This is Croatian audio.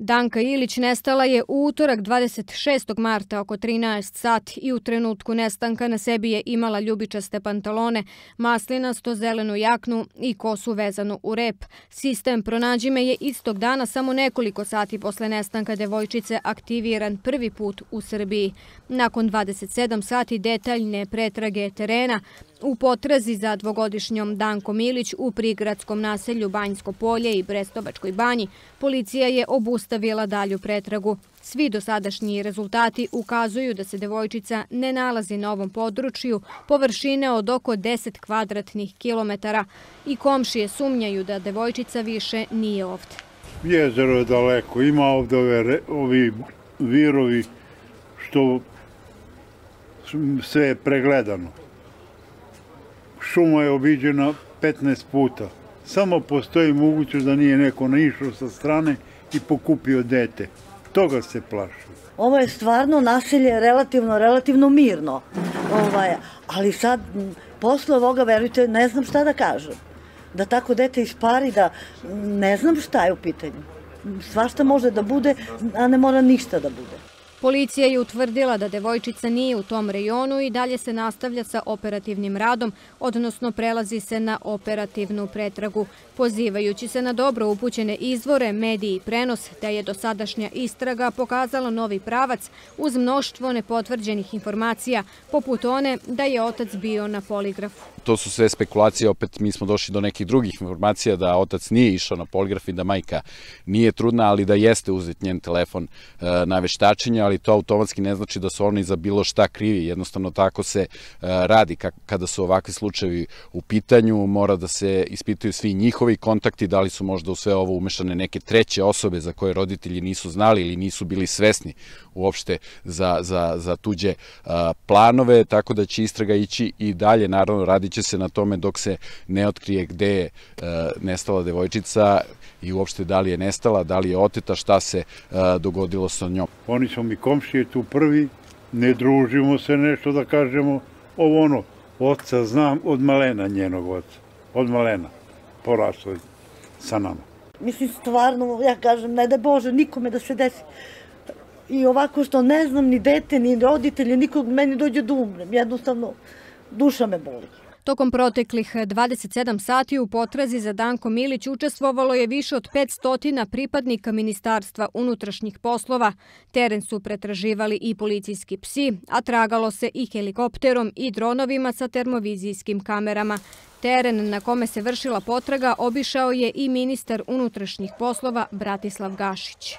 Danka Ilić nestala je u utorak 26. marta oko 13 sati i u trenutku nestanka na sebi je imala ljubičaste pantalone, maslinasto zelenu jaknu i kosu vezanu u rep. Sistem Pronađi me je istog dana, samo nekoliko sati posle nestanka devojčice, aktiviran prvi put u Srbiji. Nakon 27 sati detaljne pretrage terena, u potrazi za dvogodišnjom Dankom Ilić u prigradskom naselju Banjsko polje i Brestovačkoj banji, policija je obustavila dalju pretragu. Svi dosadašnji rezultati ukazuju da se devojčica ne nalazi na ovom području površine od oko 10 kvadratnih kilometara i komšije sumnjaju da devojčica više nije ovde. Jezero je daleko, ima ovde ovi virovi što sve je pregledano. Šuma je obiđena 15 puta. Samo postoji mogućnost da nije neko naišao sa strane i pokupio dete. Toga se plaši. Ovo je stvarno naselje relativno mirno. Ali sad, posle ovoga, verujte, ne znam šta da kažem. Da tako dete ispari, da ne znam šta je u pitanju. Svašta može da bude, a ne mora ništa da bude. Policija je utvrdila da devojčica nije u tom rejonu i dalje se nastavlja sa operativnim radom, odnosno prelazi se na operativnu pretragu. Pozivajući se na dobro upućene izvore, mediji i prenos, da je dosadašnja istraga pokazala novi pravac uz mnoštvo nepotvrđenih informacija, poput one da je otac bio na poligrafu. To su sve spekulacije, opet mi smo došli do nekih drugih informacija da otac nije išao na poligraf i da majka nije trudna, ali da jeste uzet njen telefon na veštačenje, ali to automatski ne znači da su oni za bilo šta krivi. Jednostavno tako se radi kada su ovakvi slučajevi u pitanju, mora da se ispitaju svi njihovi kontakti, da li su možda u sve ovo umešane neke treće osobe za koje roditelji nisu znali ili nisu bili svesni uopšte za tuđe planove, tako da će istraga ići i dalje, naravno radit će se na tome dok se ne otkrije gde je nestala devojčica i uopšte da li je nestala, da li je oteta, šta se dogodilo sa njom. Oni su mi komšije tu prvi, ne družimo se nešto da kažemo, oca znam od malena njenog oca, od malena, poraslo sa nama. Mislim, stvarno, ja kažem, ne da Bože nikome da se desi. I ovako što ne znam ni dete, ni roditelje, nikog meni dođe da umrem. Jednostavno, duša me boli. Tokom proteklih 27 sati u potrazi za Dankom Ilić učestvovalo je više od 500 pripadnika Ministarstva unutrašnjih poslova. Teren su pretraživali i policijski psi, a tragalo se i helikopterom i dronovima sa termovizijskim kamerama. Teren na kome se vršila potraga obišao je i ministar unutrašnjih poslova Bratislav Gašić.